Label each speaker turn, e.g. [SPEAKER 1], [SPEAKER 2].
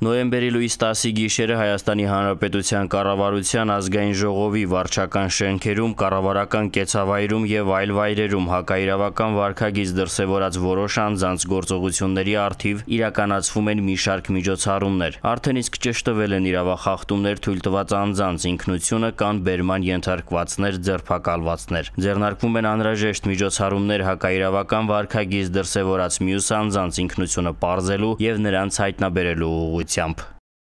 [SPEAKER 1] Նոյեմբերի լույս 10-ի գիշերը Հայաստանի Հանրապետության կառավարության ազգային ժողովի վարչական շենքերում, կառավարական կեցավայրում եւ այլ վայրերում հակաիրավական վարքագիծ դրսեւորած որոշ անձանց գործողությունների առթիվ իրականացվում են մի շարք միջոցառումներ։ Արդեն իսկ ճշտվել են իրավախախտումներ թույլ տված անձանց ինքնությունը կան բերման ենթարկվածներ, ձերբակալվածներ։ Ձեռնարկվում են անհրաժեշտ միջոցառումներ հակաիրավական վարքագիծ դրսեւորած մյուս անձանց ինքնությունը պարզելու եւ նրանց հայտնաբերելու ուղղությամբ։